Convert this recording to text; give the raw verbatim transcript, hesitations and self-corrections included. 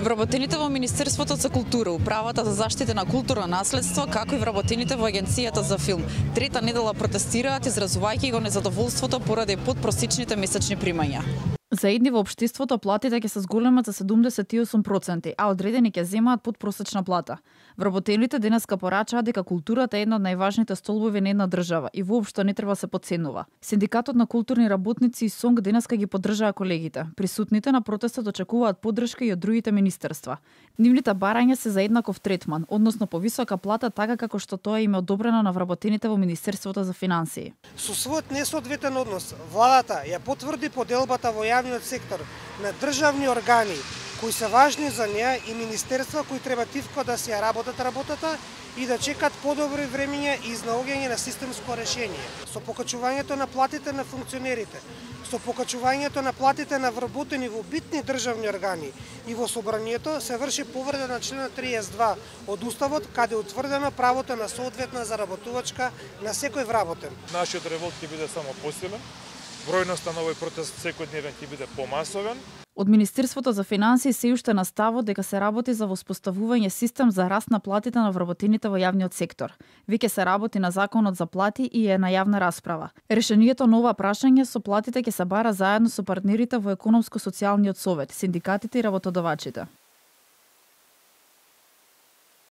Вработените во Министерството за култура, Управата за заштита на културно наследство, како и вработените во Агенцијата за филм, трета недела протестираат изразувајќи го незадоволството поради подпросечните месечни примања. За едни во општеството платите ќе се зголемат за седумдесет и осум проценти, а одредени ќе земаат подпросечна плата. Вработените денеска порачаат дека културата е една од најважните столбови на една држава и воопшто не треба се потценува. Синдикатот на културни работници и СОНГ денеска ги поддржаа колегите. Присутните на протестот очекуваат поддршка и од другите министерства. Нивните барања се за еднаков третман, односно повисока плата така како што тоа им е одобрено на вработените во Министерството за финансии. Со својот несоодветен однос, владата ја потврди поделбата во јавниот сектор на државни органи кои се важни за неа и министерства кои треба тивко да се ја работат работата и да чекат подобри времиња и изнаоѓање на системско решение. Со покачувањето на платите на функционерите, со покачувањето на платите на вработени во битни државни органи и во собранието се врши повреда на членот триесет и два од Уставот, каде е утврдено правото на соодветна заработувачка на секој вработен. Нашиот револт ќе биде само посилен, бројноста на овој протест секојдневен ќе биде помасовен. Од Министерството за финансии се уште на ставот дека се работи за воспоставување систем за раст на платите на вработените во јавниот сектор. Веќе се работи на законот за плати и е на јавна расправа. Решението на ова прашање со платите ќе се бара заедно со партнерите во економско-социјалниот совет, синдикатите и работодавачите.